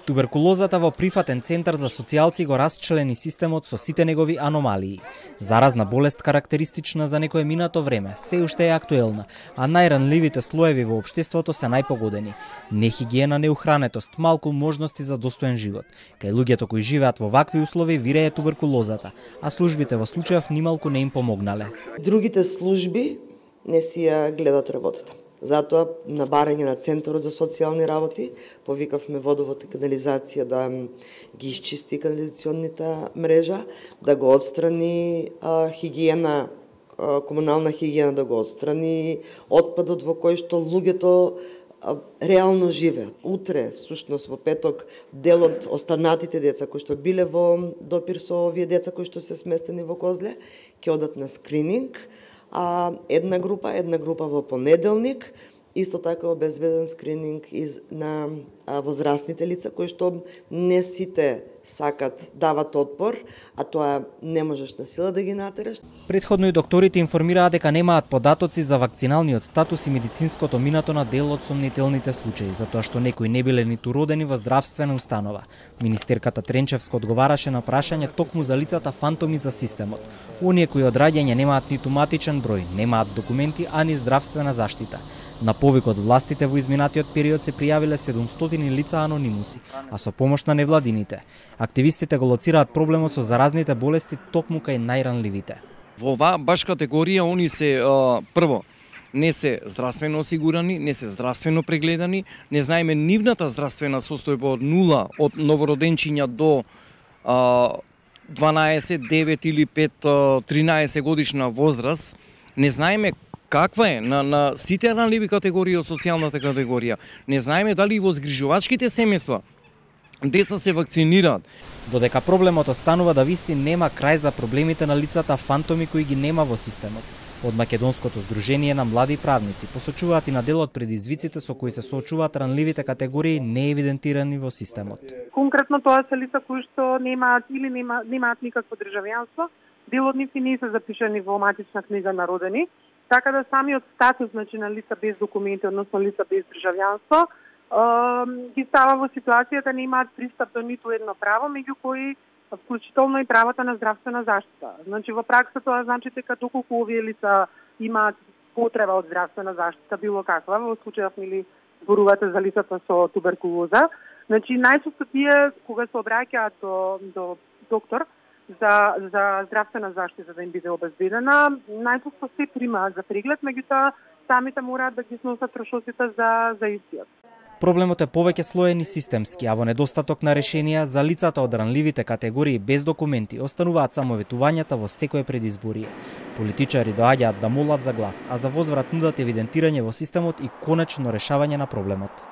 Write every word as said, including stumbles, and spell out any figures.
Туберкулозата во прифатен центар за социјалци го расчлени системот со сите негови аномалии. Заразна болест карактеристична за некое минато време, се уште е актуелна, а најранливите слоеви во општеството се најпогодени. Нехигиена, неухранетост, малку можности за достоен живот. Кај луѓето кои живеат во вакви услови вирее туберкулозата, а службите во случајов нималку не им помогнале. Другите служби не си ја гледат работата. Затоа, на барање на Центарот за социјални работи, повикавме водовод и канализација да ги исчисти канализационната мрежа, да го отстрани а, хигиена, а, комунална хигиена да го отстрани, отпадот во кој што луѓето а, реално живеат. Утре, всушност во петок, дел од останатите деца кои што биле во допир со овие деца кои што се сместени во Козле, ќе одат на скрининг, а една група, една група во понеделник, исто така обезбеден скрининг из на а, возрастните лица кои што не сите сакат дават отпор, а тоа не можеш на сила да ги натераш. Претходно и докторите информираат дека немаат податоци за вакциналниот статус и медицинското минато на дел од сомнителните случаи, затоа што некои не биле ниту родени во здравствена установа. Министерката Тренчевска одговараше на прашање токму за лицата фантоми за системот. Оние кои од раѓање немаат ниту матичен број, немаат документи, ани здравствена заштита. На повик од властите во изминатиот период се пријавиле седумстотини лица анонимуси, а со помош на невладините. Активистите го лоцираат проблемот со заразните болести токму кај најранливите. Во оваа баш категорија они се а, прво не се здравствено осигурани, не се здравствено прегледани, не знаеме нивната здравствена состојба од нула од новороденчиња до а, дванаесет, девет или пет, тринаесет годишна возраст, не знаеме каква е на, на сите ранливи категории од социјалната категорија. Не знаеме дали и во згрижувачките семејства деца се вакцинираат. Додека проблемот останува да виси, нема крај за проблемите на лицата фантоми кои ги нема во системот. Од Македонското здружение на млади правници посочуваат и на дел од предизвиците со кои се соочуваат ранливите категории неевидентирани во системот. Конкретно тоа се лица кои што немаат или нема, немаат никакво државјанство, дел од нив не се запишани во матична книга на родени, така да самиот статус, значи, на лица без документи, односно лица без државјанство, ги става во ситуацијата не имаат пристап до ниту едно право, меѓу кои вклучително и правата на здравствена заштита. Значи, во пракса тоа значи дека доколку овие лица имаат потреба од здравствена заштита, било каква, во случајов нели зборувате за лицата со туберкулоза, значи најчесто тие кога се обраќаат до, до доктор за, за здравствена заштита да им биде обезбедена, најчесто се примаат за преглед, меѓутоа самите мораат да ги сносат трошоците за, за истиот. Проблемот е повеќе слоен и системски, а во недостаток на решенија за лицата од ранливите категории без документи остануваат само ветувањата во секое предизборие. Политичари доаѓаат да молат за глас, а за возврат нудат евидентирање во системот и конечно решавање на проблемот.